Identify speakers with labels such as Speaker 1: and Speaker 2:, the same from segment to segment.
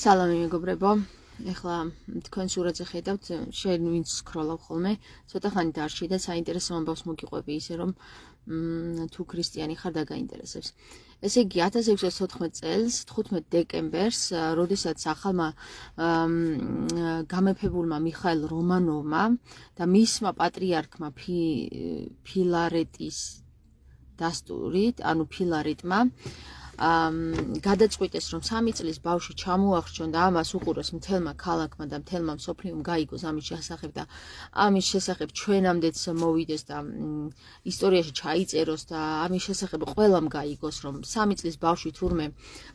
Speaker 1: სალამი მეგობრებო, ეხლა თქვენ სურათზე ხედავთ, შენ ვინც სკროლავ ხოლმე, ცოტა ხანი დარჩი და საინტერესო ამბავს მოგიყვები ისე რომ თუ ქრისტიანი ხარ და გაინტერესებს. ესე იგი 1614 წელს 15 დეკემბერს, როდესაც ახალმა გამეფებულმა მიხაილ რომანოვმა და მისმა პატრიარქმა ფილარეტის დასტურით, ანუ ფილარეტმა გადაწყვიტეს რომ 3 წლის ბავშვი ჩამოახრჩონ და ამას უყუროს მთელმა ქალაქმა და მთელმა მსოფლიომ გაიგოს ამის შესახებ და ამის შესახებ ჩვენამდეც მოვიდეს და ისტორიაში ჩაიწეროს და ამის შესახებ ყველამ გაიგოს რომ 3 წლის ბავშვი თურმე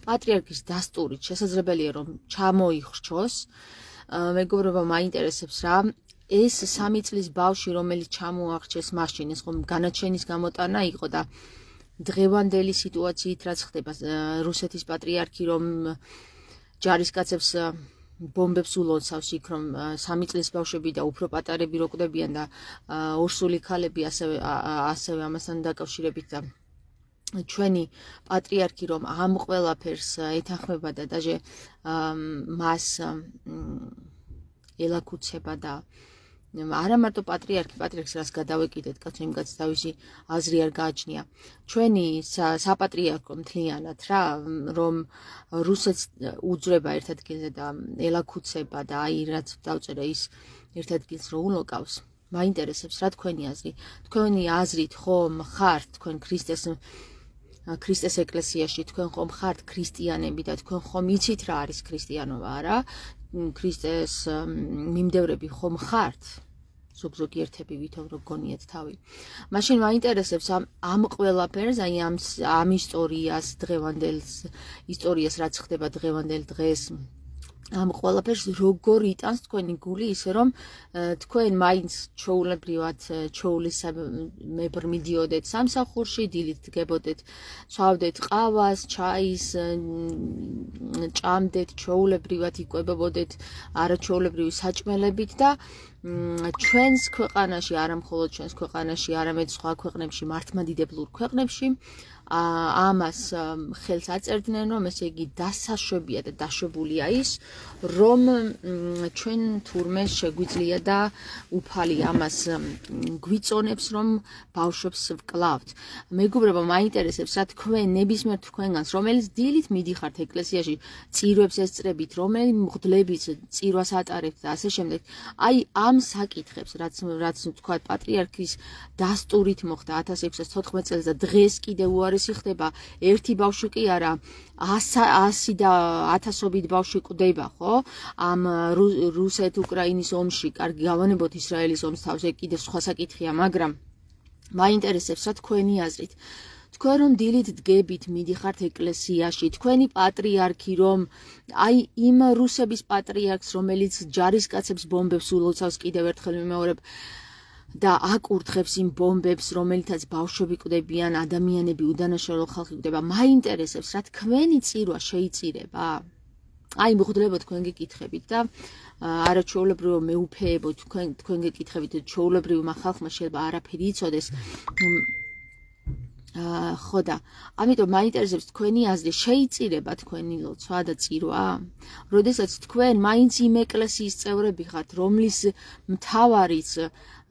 Speaker 1: პატრიარქის დასტურით შესაძლებელია რომ ჩამოიხრჩოს. მეგობრებო, მაინტერესებს რა ეს 3 წლის ბავშვი რომელიც ჩამოახრჩეს მაშინ ეს ხომ განაჩენის გამოტანა იყო და დღევანდელი სიტუაციით რაც ხდება რუსეთის პატრიარქი რომ ჯარისკაცებს ბომბებს ულოცავს იქ რომ 3 წლის ბავშვები და უფრო პატარები რო კვდებიან და ორსული ქალები ასევე ამასთან დაკავშირებით და ჩვენი პატრიარქი რომ ამ ყველაფერს ეთანხმება და დაჟე მას ელაქუცება და არა მარტო პატრიარქს რას გადავეკიდეთ კაცო იმ კაცს თავისი აზრი არ გააჩნია ჩვენი საპატრიარქო მთლიანად რა რომ რუსეთს უძრება ერთ ადგილზე და ელაქუცება და აი რაც დავწერე ის ერთ ადგილს რო უნოკავს მაინტერესებს რა თქვენი აზრით ხომ ხართ თქვენ ქრისტეს ეკლესიაში თქვენ ხომ ხართ ქრისტიანები და თქვენ ხომ იცით რა არის ქრისტიანობა არა ქრისტეს მიმდევრები ხომ ხართ ზოგ-ზოგი ერთები ვითომ რო გონიათ თავი მაშინ მაინტერესებს ამ ყველაფერს აი ამ ისტორიას დღევანდელ ისტორიას რაც ხდება დღევანდელ დღეს ამ ყველაფერს როგორ იტანს თქვენი გული ისე რომ თქვენ მაინც ჩაულებრივად ჩაულისმებრ მიდიოდეთ სამსახურში დილით დგებოდეთ ცვავდეთ ყავას ჩაის ჭამდეთ ჩაულებრივად იკვებებოდეთ არაჩვეულებრივი საჭმელებით და ჩვენს ქვეყანაში არა მხოლოდ ჩვენს ქვეყანაში არამედ სხვა ქვეყნებში მართლმადიდებლურ ქვეყნებში ამას ხელს აწერდნენ რომ ესე იგი დასაშვებია და დაშვებულია ის რომ ჩვენ თურმე შეგვიძლია და უფალი ამას გვიწონებს რომ ბავშვებს ვკლავთ. მეგობრებო, მაინტერესებს რა თქვენ ნებისმიერ თქვენგანს რომელიც დილით მიდიხართ ეკლესიაში წირვებს ესწრებით რომელი მღვდლების წირვას ატარებთ და ასე შემდეგ აი ამ საკითხებს რაც თქვა პატრიარქის დასტურით მოხდა 1614 წელს და დღეს კიდევ უარესი ხდება ერთი ბავშვი კი არა 100 და 1000ობით ბავშვი კვდება ხო ამ რუსეთ-უკრაინის ომში კარგი გავანებოთ ისრაელის ომს თავზე კიდევ სხვა საკითხია მაგრამ მაინტერესებს რა თქვენი აზრით თქვენ რომ დილით დგებით მიდიხართ ეკლესიაში თქვენი პატრიარქი რომ აი იმ რუსების პატრიარქს რომელიც ჯარისკაცებს ბომბებს ულოცავს კიდევ ერთხელ ვიმეორებ და აკურთხებს იმ ბომბებს რომელთაც ბავშვები კვდებიან ადამიანები უდანაშაულო ხალხი კვდება მაინტერესებს რა თქვენი წირვა შეიწირება აი მღვდლებო თქვენ გეკითხებით და არაჩვეულებრივო მეუფეებო თქვენ გეკითხებით ჩვეულებრივმა ხალხმა შეიძლება არაფერი იცოდეს ხო და ამიტომ მაინტერესებს თქვენი აზრი შეიწირება თქვენი ლოცვა და წირვა როდესაც თქვენ მაინც იმ ეკლესიის წევრები ხართ რომლის მთავარიც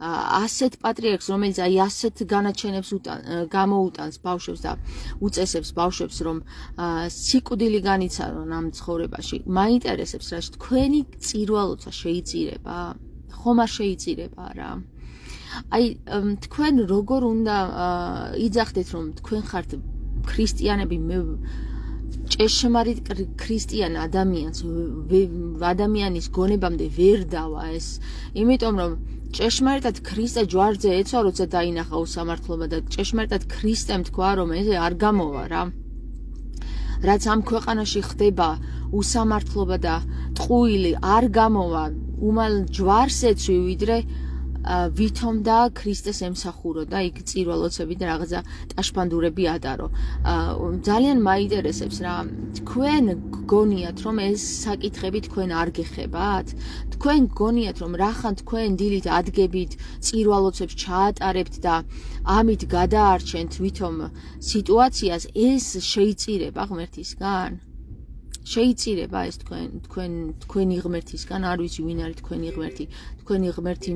Speaker 1: ასეთ პატრიარქს რომელიც აი ასეთ განაჩენებს გამოუტანს ბავშვებს და უწესებს ბავშვებს რომ სიკვდილი განიცადონ ამ ცხოვრებაში მაინტერესებს რა თქვენი წირვა ლოცვა შეიწირება ხომ არ შეიწირება რა აი თქვენ როგორ უნდა იძახდეთ რომ თქვენ ხართ ქრისტიანები მე ჭეშმარიტ ქრისტიან ადამიანის გონებამდე ვერ დავა ეს იმიტომ რომ ჭეშმარიტად ქრისტე ჯვარზე ეცვა როცა დაინახა უსამართლობა და ჭეშმარიტად ქრისტემ თქვა რომ ეს არ გამოვა რა რაც ამ ქვეყანაში ხდება უსამართლობა და ტყუილი არ გამოვა უმალ ჯვარს ეცვი ვიდრე ვითომ და ქრისტეს ემსახურო და იქ წირვალოცები და რაღაცა ტაშფანდურები ატარო ძალიან მაინტერესებს რა თქვენ გგონიათ რომ ეს საკითხები თქვენ არ გეხებათ თქვენ გგონიათ რომ რახან თქვენ დილით ადგებით წირვალოცებს ჩაატარებთ და ამით გადაარჩენთ ვითომ სიტუაციას ეს შეიწირება ღმერთისგან შეიწირება ეს თქვენი ღმერთისგან, არ ვიცი ვინ არის თქვენი ღმერთი, თქვენი ღმერთი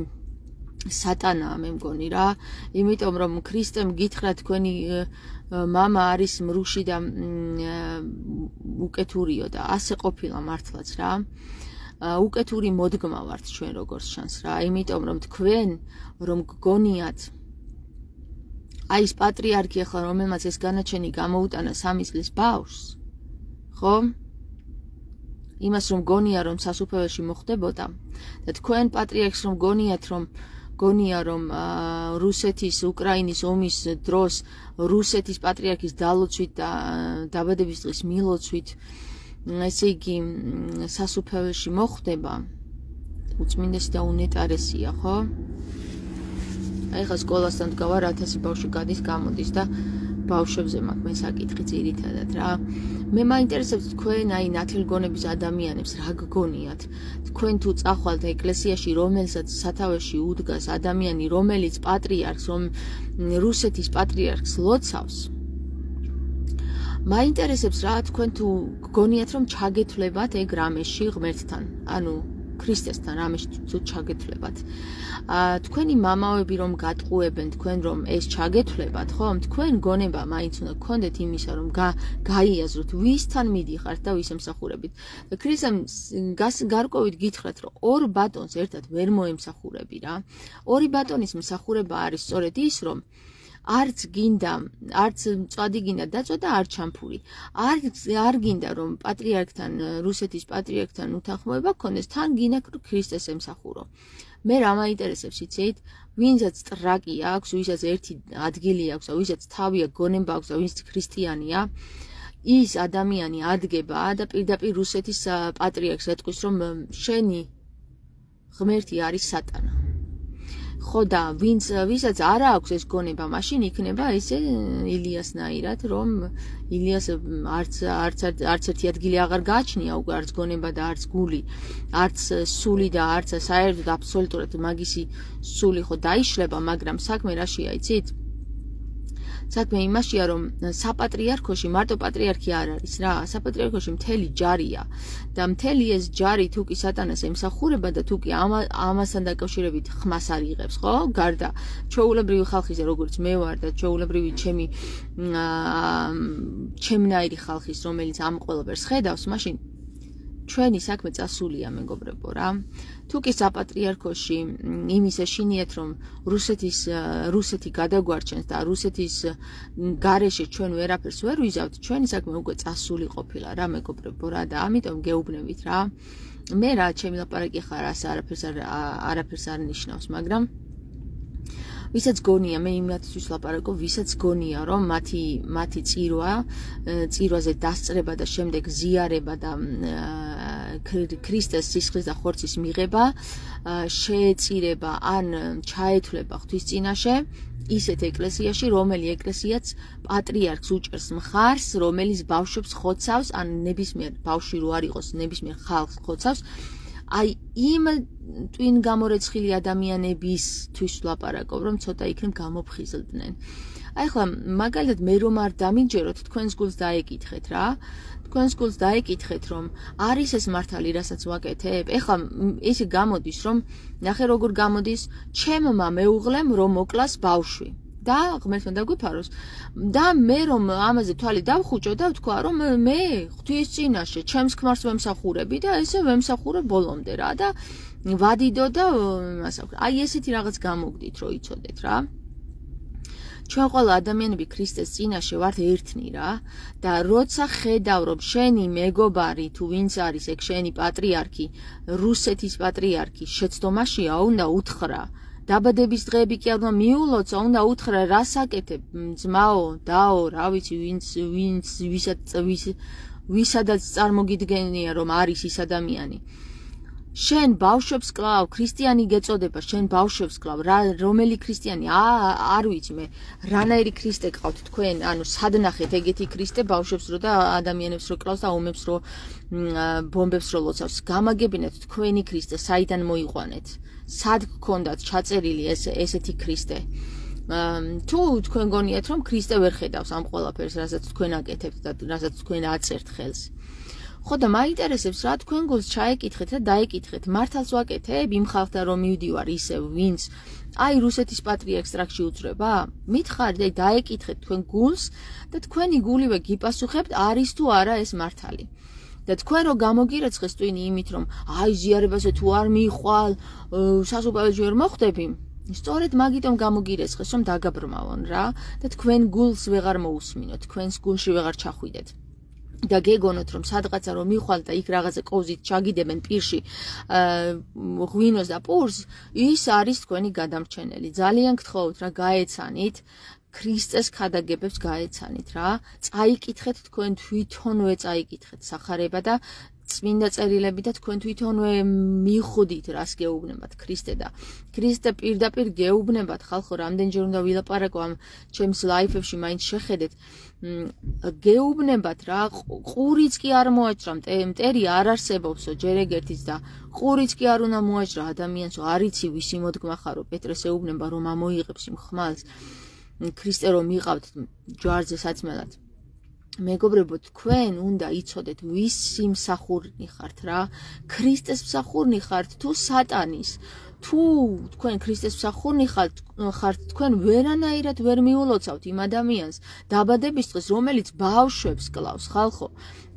Speaker 1: სატანაა მე მგონი რა, იმიტომ რომ ქრისტემ გითხრა თქვენი მამა არის მრუში და უკეთურიო და ასე ყოფილა მართლაც რა. უკეთური მოდგმა ვართ ჩვენ როგორც ჩანს რა, იმიტომ რომ თქვენ რომ გგონიათ აი ეს პატრიარქი ახლა რომელმაც ეს განაჩენი გამოუტანა 3 წლის ბავშვს, ხო? იმას რომ გონია რომ სასუფეველში მოხდებოდა და თქვენ პატრიარქს რომ გონია რომ რუსეთის უკრაინის ომის დროს რუსეთის პატრიარქის დალოცვით და დაბადების დღის მილოცვით ესე იგი სასუფეველში მოხდება, უწმინდესი და უნეტარესია, ხო? აი ხა სკოლასთან დგავარ 1000 ბავშვი გადის გამოდის და ბავშვებზე მაქვს მე საკითხი ძირითადად რა. მე მაინტერესებს თქვენ აი ნათელგონების ადამიანებს რა გგონიათ? თქვენ თუ წახვალთ ეკლესიაში, რომელსაც სათავეში უდგას ადამიანი, რომელიც პატრიარქს, რუსეთის პატრიარქს ლოცავს, მაინტერესებს რა თქვენ თუ გგონიათ რომ ჩაგეთვლებათ ეგ რამეში ღმერთთან, ანუ ქრისტესთან რამეში თუ ჩაგეთვლებათ. თქვენი მამაოები რომ გატყუებენ თქვენ რომ ეს ჩაგეთვლებათ, ხო? თქვენ გონება მაინც უნდა გქონდეთ იმისა რომ გაიაზროთ ვისთან მიდიხართ და ვის ემსახურებით. და ქრისტემ გარკვევით გითხრათ რომ ორ ბატონს ერთად ვერ მოემსახურები რა. ორი ბატონის მსახურება არის სწორედ ის რომ არც მწვადი გინდა დაწვა და არ ჩამფური. არ გინდა რომ პატრიარქთან, რუსეთის პატრიარქთან უთანხმოება გქონდეს, თან გინდა ქრისტეს ემსახურო. მე რა მაინტერესებს იცით? ვინცაც ტრაკი აქვს, ვისაც ერთი ადგილი აქვს, ვისაც თავია გონება აქვს და ვინც ქრისტიანია, ის ადამიანი ადგება და პირდაპირ რუსეთის პატრიარქს ეტყვის რომ შენი ღმერთი არის სატანა. ხო და ვისაც არ აქვს ეს გონება, მაშინ იქნება ესე ილიასნაირად, რომ ილიას არც ერთი ადგილი აღარ გააჩნია უკვე, არც გონება და არც გული, არც სული და არც საერთოდ აბსოლუტურად მაგისი სული ხო დაიშლება, მაგრამ საქმე რაშია იცით? საქმე იმაშია რომ საპატრიარქოში მარტო პატრიარქი არ არის რა, საპატრიარქოში მთელი ჯარია და მთელი ეს ჯარი თუ კი სატანას ემსახურება და თუ კი ამასთან დაკავშირებით ხმას არ იღებს, ხო? გარდა ჩვეულებრივი ხალხის როგორც მე ვარ და ჩვეულებრივი ჩემნაირი ხალხის რომელიც ამ ყველაფერს ხედავს, მაშინ ჩვენი საქმე წასულია მეგობრებო რა. თუ კი საპატრიარქოში იმის ეშინიათ რომ რუსეთი გადაგვარჩენს და რუსეთის გარეშე ჩვენ ვერაფერს ვერ ვიზავთ, ჩვენი საქმე უკვე წასული ყოფილა რა მეგობრებო რა და ამიტომ გეუბნებით რა. მე რა ჩემი ლაპარაკი ხარ არაფერს არ ნიშნავს, მაგრამ ვისაც გონია, მე იმათთვის ლაპარაკობ, ვისაც გონია რომ მათი წირვაზე დასწრება და შემდეგ ზიარება და ქრისტეს სისხლის და ხორცის მიღება შეეწირება ან ჩაეთვლება ღვთის წინაშე ისეთ ეკლესიაში, რომელი ეკლესიაც პატრიარქს უჭერს მხარს, რომელიც ბავშვებს ხოცავს, ან ნებისმიერ ბავშვი რო არ იყოს, ნებისმიერ ხალხს ხოცავს, აი იმ twin გამორეცხილი ადამიანებისთვის ვლაპარაკობ, რომ ცოტა იქნებ გამოფხიზლდნენ. აი ხლა მაგალითად მე რომ არ დამიჯეროთ, თქვენს გულს დაეკითხეთ რა. თქვენს გულს დაეკითხეთ, რომ არის ეს მართალი, რასაც ვაკეთებ? ეხლა ესე გამოდის, რომ ნახე როგორ გამოდის, ჩემმა მეუღლემ რომ მოკლას ბავშვი. და ღმერთმა დაგვიფაროს და მე რომ ამაზე თვალი დავხუჭო და ვთქვა რომ მე ღვთის წინაშე ჩემს ქმარს ვემსახურები და ესე ვემსახურე ბოლომდე რა და ვადიდო და აი ესეთი რაღაც გამოგდით რომ იცოდეთ რა. ჩვენ ყველა ადამიანები ქრისტეს წინაშე ვართ ერთნი რა და როცა ხედავ რომ შენი მეგობარი თუ ვინც არის ეგ შენი პატრიარქი, რუსეთის პატრიარქი შეცდომაშია, უნდა უთხრა დაბადების დღეები კი არ უნდა მიულოცა, უნდა უთხრა რას აკეთებ, ძმაო, დაო, რა ვიცი, ვისადაც წარმოგიდგენია რომ არის ის ადამიანი. შენ ბავშვებს კლავ, ქრისტიანი გეწოდება, შენ ბავშვებს კლავ, რომელი ქრისტიანი, არ ვიცი მე, რანაირი ქრისტე გყავთ თქვენ, ანუ სად ნახეთ ეგეთი ქრისტე ბავშვებს რო და ადამიანებს რო კლავს და ომებს რო ბომბებს რო ლოცავს, გამაგებინეთ თქვენი ქრისტე, საიდან მოიყვანეთ? სად გქონდათ ჩაწერილი ესეთი ქრისტე? თუ თქვენ გონიათ რომ ქრისტე ვერ ხედავს ამ ყველაფერს, რასაც თქვენ აკეთებთ და რასაც თქვენ აწერთ ხელს. ხო და მაინტერესებს რა თქვენ გულს ჩაეკითხეთ და დაეკითხეთ მართალს ვაკეთებ იმ ხალხთან რომ მივდივარ ისევ ვინც აი რუსეთის პატრიარქს ტრაქში უძრება? მითხარით, აი დაეკითხეთ თქვენ გულს და თქვენი გულივე გიპასუხებთ არის თუ არა ეს მართალი. და თქვენ რო გამოგირეცხეს ტვინი იმით რომ აი ზიარებაზე თუ არ მიხვალ, სასუპაველში ვერ მოხვდები, სწორედ მაგიტომ გამოგირეცხეს რომ დაგაბრმავონ რა და თქვენ გულს ვეღარ მოусმინოთ, თქვენს გულში ვეღარ ჩახვიდეთ. და გეგონოთ რომ სადღაცა რომ მიხვალ და იქ რაღაცა კოზით ჩაგიდებენ პირში ღვინოს და პურს, ის არის თქვენი გადამრჩენელი. ძალიან გთხოვთ რა გაეცანით ქრისტეს ქადაგებებს გაეცანით რა. წაიკითხეთ თქვენ თვითონვე წაიკითხეთ სახარება და წმინდა წერილები და თქვენ თვითონვე მიხვდით რას გეუბნებათ ქრისტე და ქრისტე პირდაპირ გეუბნებათ ხალხო რამდენჯერ უნდა ვილაპარაკო ამ ჩემს ლაიფებში მაინც შეხედეთ გეუბნებათ რა ყურიც კი არ მოაჭრა მტერი არ არსებობსო ჯერ ეგერთიც და ყურიც კი არ უნდა მოაჭრა ადამიანსო არიცი ვისი მოდგმა ხარო პეტრეს ეუბნება რომ ამოიღებს იმ ხმალს ქრისტე რომ იყავთ ჯვარზე საწმელად მეგობრებო თქვენ უნდა იცოდეთ ვისი მსახურნი ხართ რა ქრისტეს მსახურნი ხართ თუ სატანის თუ თქვენ ქრისტეს მსახურნი ხართ თქვენ ვერანაირად ვერ მიულოცავთ იმ ადამიანს დაბადების დღეს რომელიც ბავშვებს კლავს ხალხო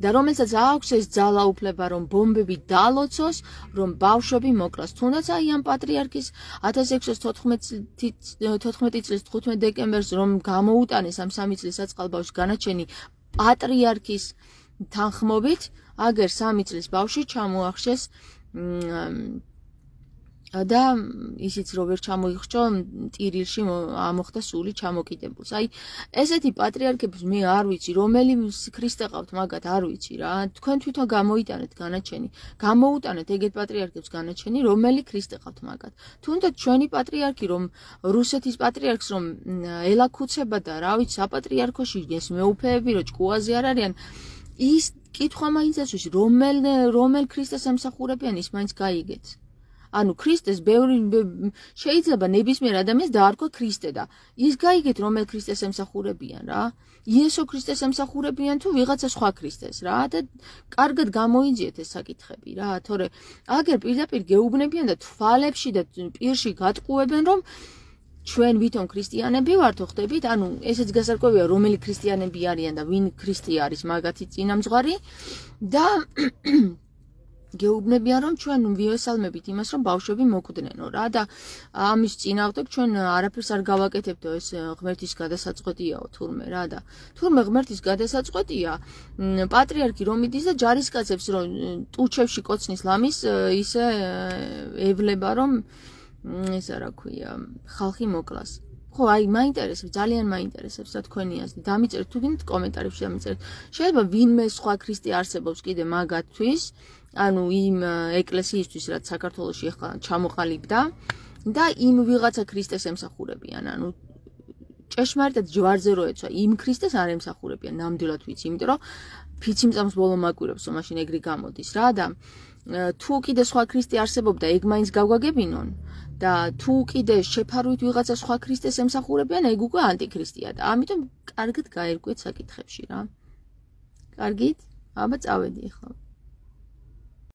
Speaker 1: და რომელსაც აქვს ეს ძალაუფლება რომ ბომბები დალოცოს რომ ბავშვები მოკლას თუნდაც აი ამ პატრიარქის 1614 წლის 15 დეკემბერს რომ გამოუტანეს ამ 3 წლის საწყალბავშვის განაჩენი პატრიარქის თანხმობით აგერ 3 წლის ბავშვი ჩამოახშეს და ისიც რო ვერ ჩამოიხჭო ტირილში ამოხდა სული ჩამოკიდებულს. აი ესეთი პატრიარქების მე არ ვიცი რომელი ქრისტე ყავთ მაგათ არ ვიცი რა. თქვენ თვითონ გამოიტანეთ განაჩენი. გამოუტანეთ ეგეთ პატრიარქებს განაჩენი რომელი ქრისტე ყავთ მაგათ. თუნდაც ჩვენი პატრიარქი რომ რუსეთის პატრიარქს რომ ელაქუცება და რა ვიცი საპატრიარქოში ეს მეუფეები რო ჭკუაზე არ არიან ის კითხვა მაინც ასვისი რომელ ქრისტეს ემსახურებიან ის მაინც გაიგეთ. ანუ ქრისტეს ბევრი შეიძლება ნებისმიერ ადამიანს დაარქვა ქრისტე და ის გაიგეთ რომელ ქრისტეს ემსახურებიან რა იესო ქრისტეს ემსახურებიან თუ ვიღაცა სხვა ქრისტეს რა და კარგად გამოიძიეთ ეს საკითხები რა თორე აგერ პირდაპირ გეუბნებიან და თვალებში და პირში გატყუებენ რომ ჩვენ ვითომ ქრისტიანები ვართ ხვდებით ანუ ესეც გასარკვევია რომელი ქრისტიანები არიან და ვინ ქრისტე არის მაგათი წინამძღვარი და გეუბნებიან რომ ჩვენ ვიესალმებით იმას რომ ბავშვები მოკვდნენო რა და ამის წინააღმდეგ ჩვენ არაფერს არ გავაკეთებდო ეს ღმერთის გადასაწყვეტიაო თურმე რა და თურმე ღმერთის გადასაწყვეტია პატრიარქი რომ იდის და ჯარისკაცებს რომ ტუჩევში კოცნის ლამის ისე ევლება რომ ისა რა ქვია ხალხი მოკლას ხო აი მაინტერესებს ძალიან მაინტერესებს რა თქვენი აზრი დამიწერეთ თუ გინდ კომენტარებში დამიწერეთ შეიძლება ვინმე სხვა ქრისტე არსებობს კიდე მაგათთვის ანუ იმ ეკლესიისთვის რაც საქართველოში ახლა ჩამოყალიბდა და იმ ვიღაცა ქრისტეს ემსახურებიან ანუ ჭეშმარიტად ჯვარზე რო ეცვა იმ ქრისტეს არ ემსახურებიან ნამდვილად ვიცი იმიტომ რომ ფიციმწამს ბოლო მაკვირებსო მაშინ ეგრე გამოდის რა და თუ კიდე სხვა ქრისტე არსებობდა ეგ მაინც გავგაგებინონ და თუ კიდე შეფარვით ვიღაცა სხვა ქრისტეს ემსახურებიან ეგ უკვე ანტიქრისტია და ამიტომ კარგად გაერკვეთ საკითხებში რა კარგით აბა წავედი ახლა